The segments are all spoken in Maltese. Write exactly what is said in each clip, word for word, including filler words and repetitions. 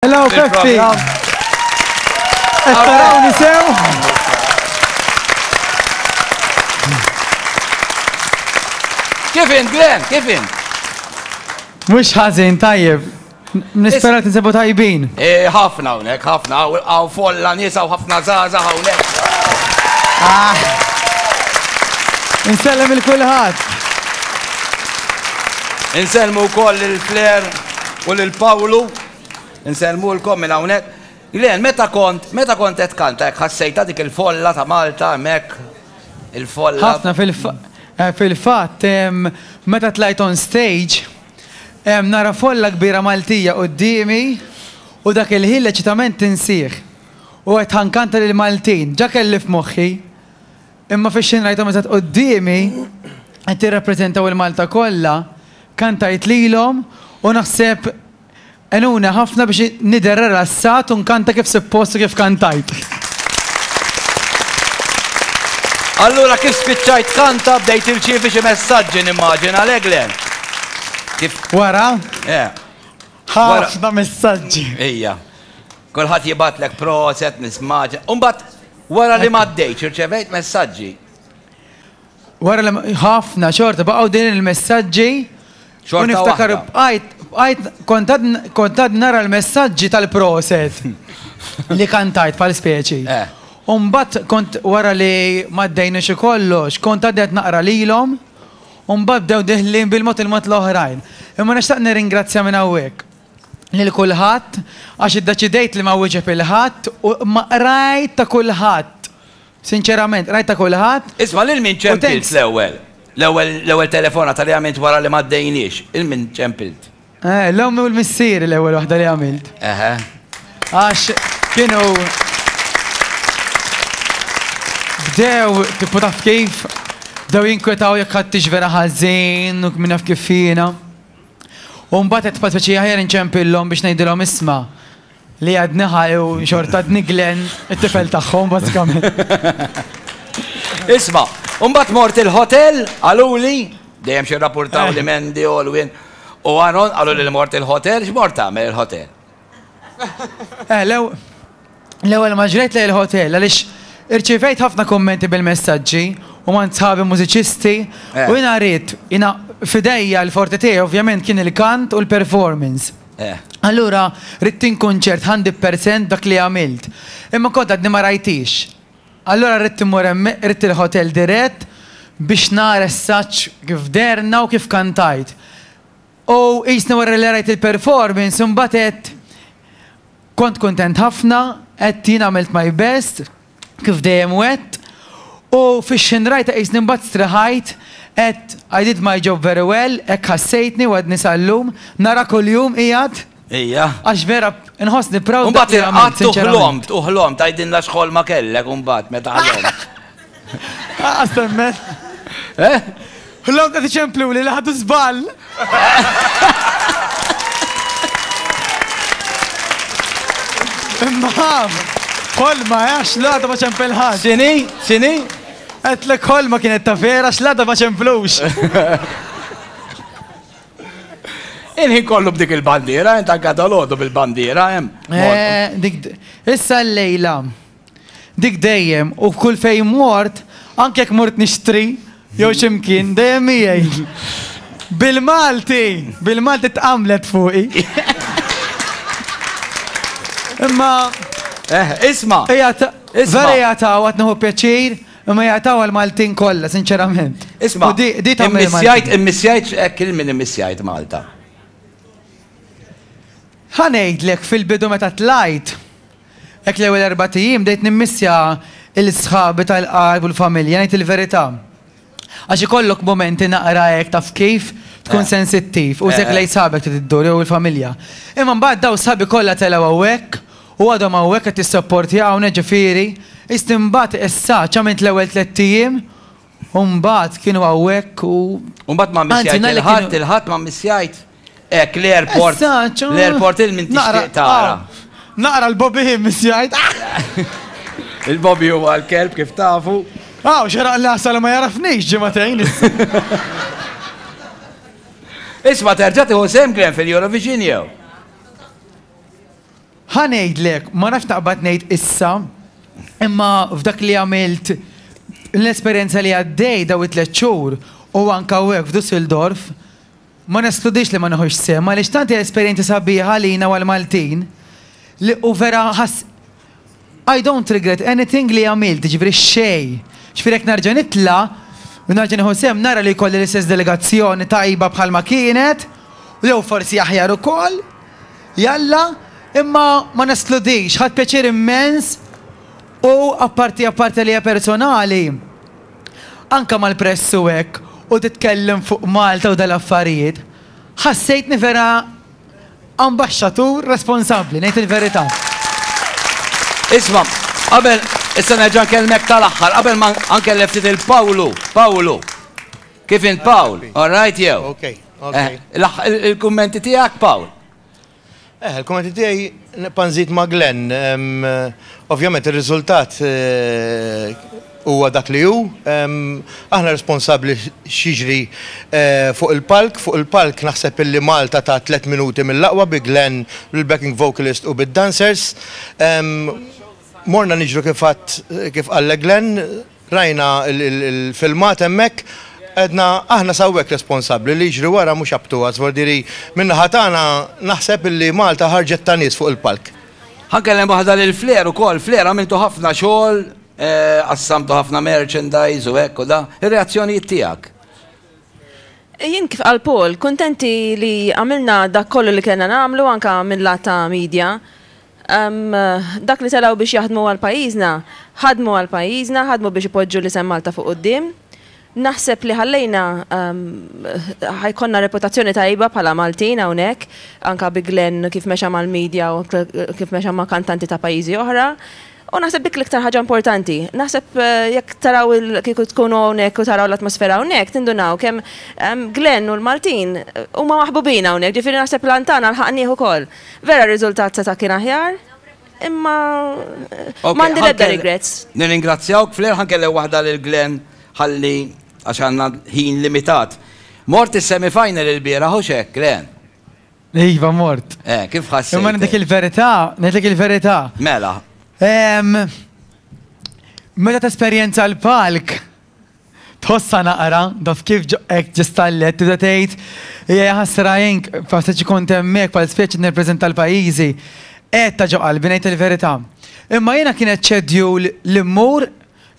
Hello, Peppi. Qed tarawni sew? Kif int, Glenn? Kif int? Mhux ħażin, tajjeb. Nispera tinsabu tajbin. Eh, ħafna hawnhekk, ħafna, hawn folla nies, hawn ħafna żgħażagħ hawnhekk. Ah. Insellem il kulħadd. Insellmu wkoll lil Flair u lil Pawlu. Insellmulkom minn hawnhekk. Glenn, meta kont, meta kont qed tkanta hekk ħassejtha dik il-folla ta' Malta hemmhekk, il-folla. Ħafna fil-fatt, meta tlajt on stage, nara folla kbira Maltija quddiemi u dak il-ħin l-eċitament tinsih. U għedt ħa nkanta lill-Maltin, ġa kelli f'moħħi, imma fix-xejn rajthom eżatt quddiemi qed jirrappreżentaw il-Malta kollha, kantajt lilhom u naħseb għenuni ħafna biex nidher rilassat u nkanta kif suppost u kif kantajt. Allura kif spiċċajt tkanta bdejt tirċievi xi messaġġi nimmaġina, le Glenn? Kif? Wara? Eh. Ħafna messaġġi. Ejja. Kulħadd jibgħatlek proset, nismaġa. U mbagħad wara li m'għaddejtx irċevejt messaġġi. Wara li ħafna xorta baqgħu din il-messaġġi. U niftakar bqajt bqajt kont kont għad nara l-messaġġi tal-proset li kantajt bħal speċi. Eh. U mbagħad kont wara li m'għaddejniex u kollox, kont għadni qed naqra lilhom u mbagħad bdew deħlin bil-mod il-mod l-oħrajn. Imma nixtaq nirringrazzja minn hawnhekk lil kulħadd għax iddeċidejt li ma wieġeb 'il ħadd u imma qrajt ta' kulħadd. Sinċerament, qrajt ta' kulħadd. Isma' lil min ċempilt l-ewwel? L-ewwel l-ewwel telefonata li għamilt wara li m'għaddejniex, 'il min ċempilt? Eh, l-ommi u l-missieri l-ewwel waħda li għamilt. Eħe. Għax kienu bdew, tipo taf kif, bdew jinkwetaw jekk ħadtix vera ħażin u min jaf kif jiena. U mbagħad qed speċi aħjar inċempillhom biex ngħidilhom isma' li għadni ħaj u xorta għadni Glenn, it-tifel tagħhom bażikament. Isma', u mbagħad mort il-hotel, qaluli, dejjem xi rrapurtaw li Mandy, Olwyn u Aron qaluli li mort il-hotel, x'mort tagħmel il-hotel? Eh, l-ewwel ma ġrejt lejn il-hotel għaliex irċivejt ħafna kummenti bil-messaġġi u m'għand sħabi mużiċisti u jiena ridt, jiena f'idejja l-forte tiegħi ovvjament kien il-kant u l-performance. Allura ridt inkun ċert hundred percent dak li għamilt. Imma kont għadni ma rajthiex. Allura ridt immur hemm, ridt il-hotel dirett biex nara essaċ kif dehrna u kif kantajt. U qisni wara li rajt il-performance imbagħad għedt kont kuntent ħafna, għedt jien għamilt my best, kif dejjem għedt, u fix-xejn rajtha qisni mbagħad striħajt, għedt I did my job very well, hekk ħassejtni u għadni sal-lum, nara kuljum qiegħed. Ejja. Għax vera nħossni proud dak li għamilt, sinċerament. U mbagħad irqadt u ħlomt, u ħlomt, għidilna x'ħolma kellek imbagħad meta ħlomt. Lanqas temmen. Eh? Ħlomt qed iċempluli li ħadu żball. Imma ħolma, eh, għax l-għada ma ċempel ħadd. X'inhi? X'inhi? Għedtlek ħolma kienet ta' vera għax l-għada ma ċemplux. Il-ħin kollu b'dik il-bandiera, int anke dalgħodu bil-bandiera hemm. Eh, dik issa llejla. Dik dejjem u kull fejn mort, anke jekk mort nixtri jew xi mkien, dejjem miegħi. Bil-Malti, bil-Malti tqamlet fuqi. Imma. Eh, isma. Vera jagħtaw għad nieħu pjaċir, imma jagħtaw għall-Maltin kollha, sinċerament. Isma, immissjajt, immissjajt hekk il min immissjajt Malta. Ħa ngħidlek fil-bidu meta tlajt, hekk l-ewwel erbat ijiem bdejt nimmissja 'l sħabi tal-qalb u l-familja, ngħid il-verità. Għax ikollok mumenti naqra hekk taf kif, tkun sensittiv u hekk lejn sħabek trid iddur jew il-familja. Imma mbagħad dawn sħabi kollha telgħu hawnhekk u għadhom hawnhekk qed jissapportjawna ġifieri, qisni mbagħad issa għamilt l-ewwel tlett ijiem u mbagħad kienu hawnhekk u. U mbagħad ma mmissjajt il-Ħadd, il-Ħadd ma mmissjajt? Hekk l-airport, l-airport il min tixtieq tara. Naqra l-Bobby Himmis jgħid. Il-Bobby huwa l-kelb kif tafu. Aw, xeraq l-għasal ma jarafnix ġimagħtejn. Isma' terġa' tieħu sehem Glenn fil-Eurovision jew? Ħa ngħidlek, ma nafx naqbad ngħid issa, imma f'dak li għamilt l-esperjenza li għaddej daw it-tliet xhur u anke hawnhekk f'Dusseldorf, ma neskludix li ma nieħux sehem, għaliex tant hija esperjenza sabiħa għalina u għall-Maltin li u vera ħass I don't regret anything li għamilt, ġifieri xejn. Ġifieri jekk nerġa' nitla' u nerġa' nieħu sehem nara li jkolli l-istess delegazzjoni tajba bħalma kienet, u jew forsi aħjar ukoll, jalla, imma ma neskludix, ħadt pjaċir immens u apparti apparti li hija personali, anka mal-press u hekk, u titkellem fuq Malta u dal-affarijiet, ħassejtni vera ambaxxatur responsabbli, ngħid il-verità. Isma', qabel, issa nerġa' nkellmek tal-aħħar, qabel ma nkellem ftit il-Pawlu, Pawlu. Kif int Pawl? All right jew? Ok, ok. Il-kummenti tiegħek Pawl? Eh, il-kummenti tiegħi nibqa' nżid ma' Glenn. Ovvjament ir-riżultat huwa dak li hu. Aħna responsabbli x'jiġri fuq il-palk. Fuq il-palk naħseb illi Malta ta' tliet minuti mill-aqwa bi Glenn, bil-backing vocalist u bid-dancers. Morna niġru kif kif qal Glenn, rajna il-filmat hemmhekk, għedna aħna sawwek responsabbli li jiġri wara mhux up to us, vordiri min-naħa tagħna naħseb illi Malta ħarġet ta' nies fuq il-palk. Ħa nkellem waħda lil Flair ukoll, Flair għamiltu ħafna xogħol, qassamtu ħafna merchandise u hekk u da, ir-reazzjonijiet tiegħek? Jien kif qal Paul, kuntenti li għamilna dak kollu li kellna nagħmlu anka mill-lat ta' media. Dak li telgħu biex jaħdmu għal pajjiżna, ħadmu għal pajjiżna, ħadmu biex ipoġġu l-isem Malta fuq quddiem. Naħseb li ħallejna ħajkonna reputazzjoni tajba bħala Maltin hawnhekk, anka bi Glenn kif mexa mal-media u kif mexa ma' kantanti ta' pajjiżi oħra. U naħseb dik l-iktar ħaġa importanti. Naħseb jekk taraw kieku tkunu hawnhekk u taraw l-atmosfera hawnhekk, tindunaw kemm Glenn u l-Maltin huma maħbubin hawnhekk, ġifieri naħseb l-antana lħaqnieh ukoll. Vera r-riżultat seta' kien aħjar, imma m'għandi l-ebda regrets. Nirringrazzjawk Flair, ħa nkellem waħda lil Glenn ħalli għax għandna ħin limitat. Mort is-semifinal il-bieraħ u x'hekk, Glenn? Iva, mort. Eh, kif ħassejt? Imma ngħidlek il-verità, ngħidlek il-verità. Mela. Meta tesperjenza l-palk, tħossa naqra, daf kif hekk ġistallet, tibda tgħid, hija ħasra jien faċli kont hemmhekk bħal speċi nirrepreżenta l-pajjiżi. Qed ta' ġo qalbi ngħid il-verità. Imma jiena kienet schedule li mmur,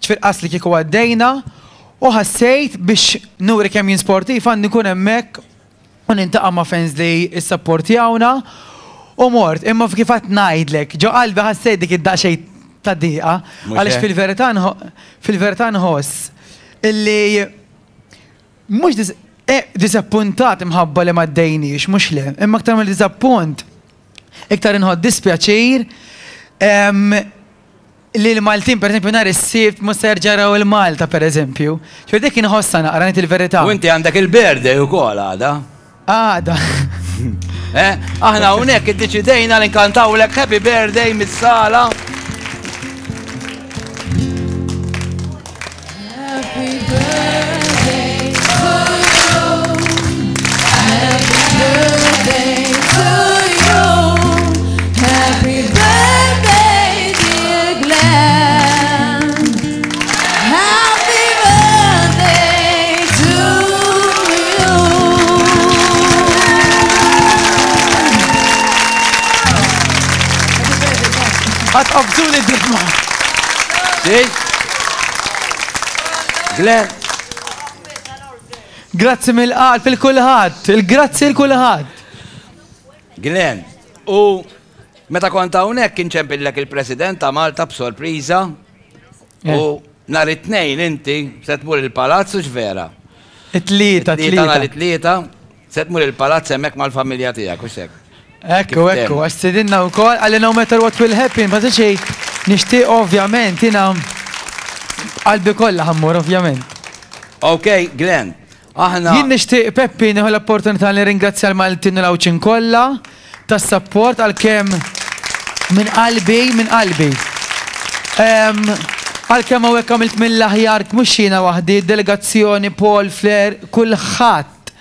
ġifier qas li kieku għaddejna, u ħassejt biex nuri kemm jien sportiv għandi nkun hemmhekk u nintaqa' ma' fans li issapportjawna. U mort, imma kif qed ngħidlek, ġo qalbi ħassejt dik id-daqsxejn ta' diqa, għaliex fil-verità fil-verità nħoss illi mhux disappuntat imħabba li ma ddejniex, mhux le, imma aktar mill-disappunt, iktar inħodd dispjaċir li l-Maltin, per eżempju, nhar is-Sibt mhux se jerġa' jaraw il-Malta, per eżempju. Ġifieri dik inħossha naqra ngħid il-verità. U inti għandek il-birthday ukoll għada. Għada. Eh, aħna hawnhekk iddeċidejna li nkantawlek happy birthday mis-sala. Happy birthday to you. Happy birthday to you. Happy birthday, dear Glenn. Happy birthday to you. Għatqabżu li d-dima. Glenn. Grazzi mill-qalb il-kulħadd, il-grazzi il-kulħadd. Glenn, u meta kont hawnhekk kien ċempillek il-President ta' Malta b'sorpriża u nhar it-tnejn inti se tmur il-palazz u x'vera? It-tlieta, It-tlieta nhar it-tlieta se tmur il-palazz hemmhekk mal-familja tiegħek u x'hekk. Ekku, ekku, għax sidinna wkoll għalli no matter what will happen, ma xej nixtieq ovvjament jiena qalbi kollha ħammur ovvjament. Ok, Glenn, aħna. Jien nixtieq Peppi nieħu l-opportunità li ringrazzja l-Maltin u l-Għawdxin kollha tas-support għalkemm minn qalbi, minn qalbi. Għalkemm hawnhekk għamilt mill-aħjar mhux jiena waħdi, delegazzjoni, Paul, Flair, kulħadd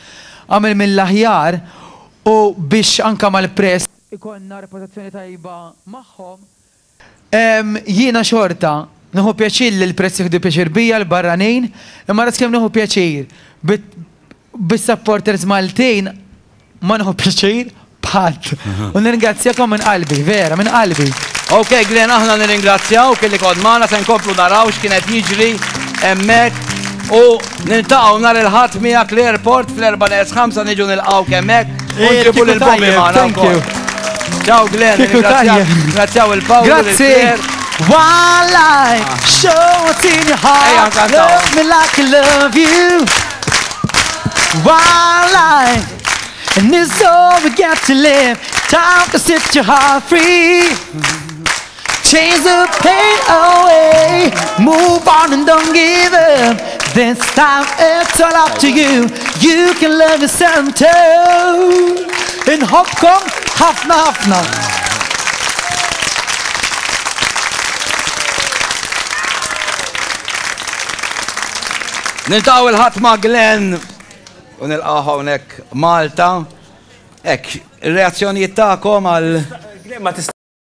għamel mill-aħjar u biex anka mal-press ikollna reputazzjoni tajba magħhom. Jiena xorta nieħu pjaċir li l-press jieħdu pjaċir bija l-barranin, imma ras kemm nieħu pjaċir bis-supporters Maltin ma nieħu pjaċir b'ħadd. U nirringrazzjakom minn qalbi, vera, minn qalbi. Ok, Glenn, aħna nirringrazzjaw kelli kont magħna, se nkomplu naraw x'kienet jiġri hemmhekk u niltaqgħu nhar il-Ħadd miegħek l-airport fl-erbgħa neqes ħamsa niġu nilqgħu hemmhekk u nġibu lil Bobby magħna. Thank you. Ciao Glenn, ringrazzjaw il-Paolo. Grazzi. One life, show what's in your heart. Love me like I love you. One life, and it's all we got to live. Time to set your heart free. Change the pain away. Move on and don't give up. This time it's all up to you. You can love yourself too. Inħobbkom ħafna ħafna. Niltaqgħu il-Ħadd ma' Glenn u nilqgħu hawnhekk Malta. Hekk, ir-reazzjonijiet tagħkom għal Glenn ma tista'